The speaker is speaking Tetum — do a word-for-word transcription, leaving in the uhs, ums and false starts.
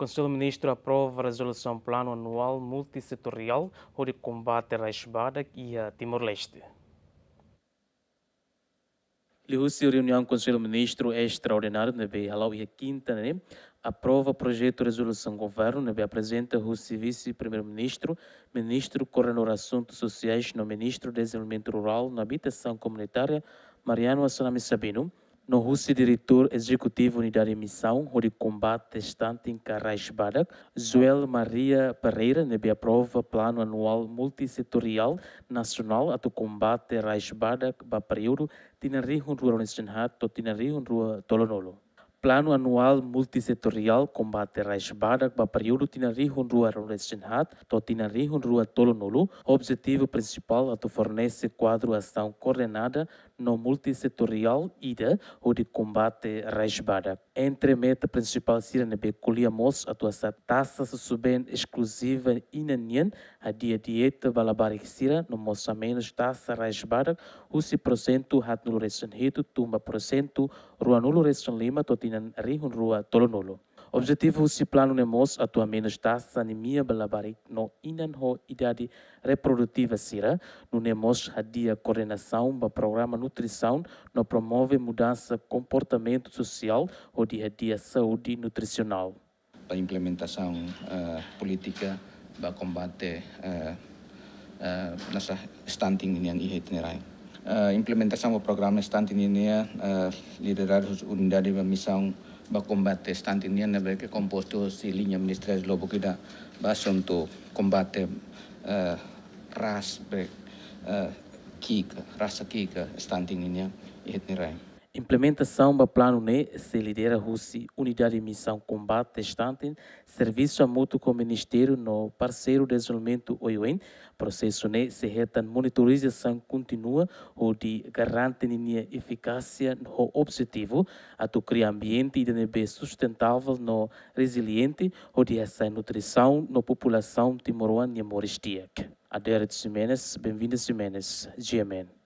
Konsellu Ministru aprova rezolusaun planu anuál multisetoriál hodi kombate raiz badak iha Timor-Leste. Liuhusi reuniaun Konsellu Ministru estraordináriu ne'ebé hala'o iha kinta ne'e, aprova projetu rezolusaun governu ne'ebé aprezenta husi Vise-Primeiru-Ministru, Ministru Koordenadór Asuntu Sosiais no Ministru Dezenvolvimentu Rurál no Abitasaun Komunitária, Mariano Assanami Sabino, no husi Diretór Ezekutivu Unidade Misaun hodi Kombate Stunting ka Raiz Badak, Joel Maria Pereira, ne'ebé aprova planu anuál multisetoriál nasionál atu kombate raiz badak ba períodu tinan rihun rua ruanulu-resin-haat to'o tinan rihun rua tolunulu. Planu anuál multisetoriál kombate raiz badak ba períodu tinan rihun rua ruanulu-resin-haat to'o tinan rihun rua tolunulu, objetivu prinsipál atu fornese kuadru asaun koordenada no multisetoriál ida hodi kombate raiz badak. Entre meta prinsipál sira ne'ebé ko'alia mós atu hasa'e taxa susubeen eskluziva inan nian, hadi'a dieta ba labarik sira no mós hamenus taxa raiz badak husi porsentu haatnulu-resin-hitu tun ba porsentu ruanulu-resin-lima to'o tinan rihun rua tolunulu. Objetivu husi planu ne'e mós atu hamenus taxa anemia ba labarik no inan ho idade reprodutiva sira, nune'e mós hadi'a koordenasaun ba programa nutrisaun no promove mudansa komportamentu sosiál hodi hadi'a saúde nutrisionál. Ba implementasaun, eh, polítika ba kombate, eh, eh, nasa stunting nian iha ita-nia rai. Eh, implementasaun ba programa stunting nian, eh, lideradu husi Unidade Misaun ba Kombate Stunting nian ne'ebé ke kompostu husi liña ministeriál lubuk ida ba asuntu kombate, eh, ras be, eh, ki'ik, rasa ki'ik stunting nian iha ita-nia rai. Implementasaun ba planu ne'e sei lidera husi Unidade Misaun Kombate Stunting, servisu hamutuk ho ministériu no parseiru dezenvolvimentu oioin. Prosesu ne'e sei hetan monitorizasaun kontínua hodi garante ninia efikásia ho objetivu atu kria ambiente ida ne'ebé sustentável no reziliente hodi hasa'e nutrisaun no populasaun timoroan nia moris di'ak. Adérito Ximenes, Benvinda Ximenes, G M N.